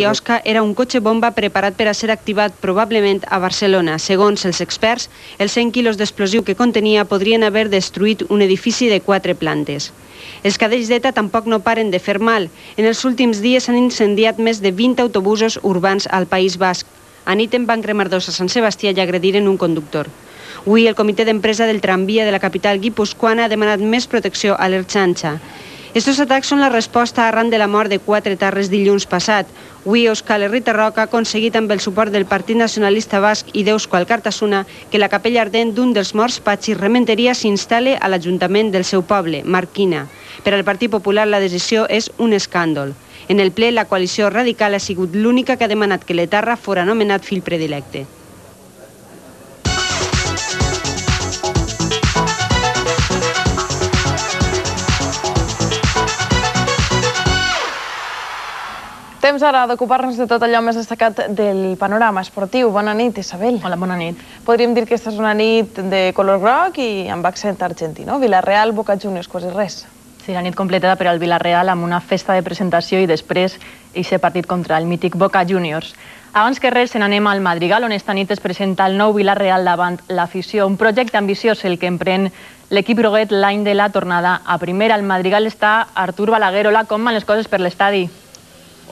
Osca era un cotxe bomba preparat per a ser activat probablement a Barcelona. Segons els experts, els 100 quilos d'explosiu que contenia podrien haver destruït un edifici de 4 plantes. Els cadells d'ETA tampoc no paren de fer mal. En els últims dies s'han incendiat més de 20 autobusos urbans al País Basc. A nit en van cremar 2 a Sant Sebastià i agrediren un conductor. Avui el comitè d'empresa del tramvia de la capital guipuscoana ha demanat més protecció a l'Ertxanxa. Estos atacs són la resposta arran de la mort de 4 etarres dilluns passat. Avui Euskal Herrita Roca ha aconseguit amb el suport del Partit Nacionalista Basc i d'Euskal Alkartasuna que la capella ardent d'un dels morts, Patxi Rementeria, s'instal·le a l'Ajuntament del seu poble, Marquina. Per al Partit Popular la decisió és un escàndol. En el ple, la coalició radical ha sigut l'única que ha demanat que l'etarra fora nomenat fill predilecte. Temps ara d'ocupar-nos de tot allò més destacat del panorama esportiu. Bona nit, Isabel. Hola, bona nit. Podríem dir que aquesta és una nit de color groc i amb accent argentí, no? Villarreal, Boca Juniors, quasi res. Sí, la nit completada per al Villarreal amb una festa de presentació i després aquest partit contra el mític Boca Juniors. Abans que res, se n'anem al Madrigal, on esta nit es presenta el nou Villarreal davant l'afició. Un projecte ambiciós, el que emprèn l'equip groguet l'any de la tornada a primera. Al Madrigal està Artur Balaguer. Hola, com van les coses per l'estadi?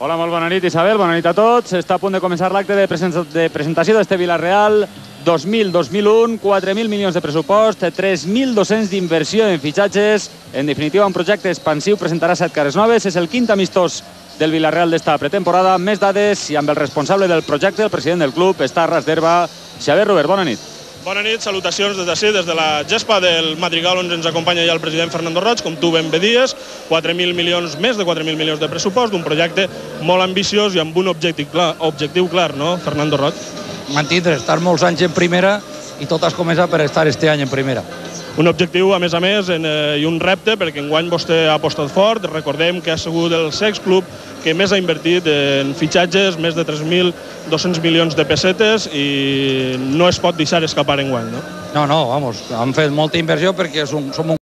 Hola, molt bona nit, Isabel, bona nit a tots. Està a punt de començar l'acte de presentació d'este Villarreal 2000-2001, 4.000 milions de pressupost, 3.200 d'inversió en fitxatges. En definitiva, un projecte expansiu, presentarà 7 cares noves. És el quint amistós del Villarreal d'esta pretemporada. Més dades i amb el responsable del projecte, el president del club, està a ras d'herba, Xavier Robert. Bona nit. Bona nit, salutacions des d'ací, des de la gespa del Madrigal, on ens acompanya ja el president Fernando Roig, com tu ben bé dies, 4.000 milions, més de 4.000 milions de pressupost, un projecte molt ambiciós i amb un objectiu clar, no, Fernando Roig? Mantindre, estar molts anys en primera i tot has començat per estar este any en primera. Un objectiu, a més, i un repte, perquè enguany vostè ha apostat fort. Recordem que ha sigut el sex club que més ha invertit en fitxatges, més de 3.200 milions de pessetes, i no es pot deixar escapar enguany, no? No, vamos, han fet molta inversió perquè som un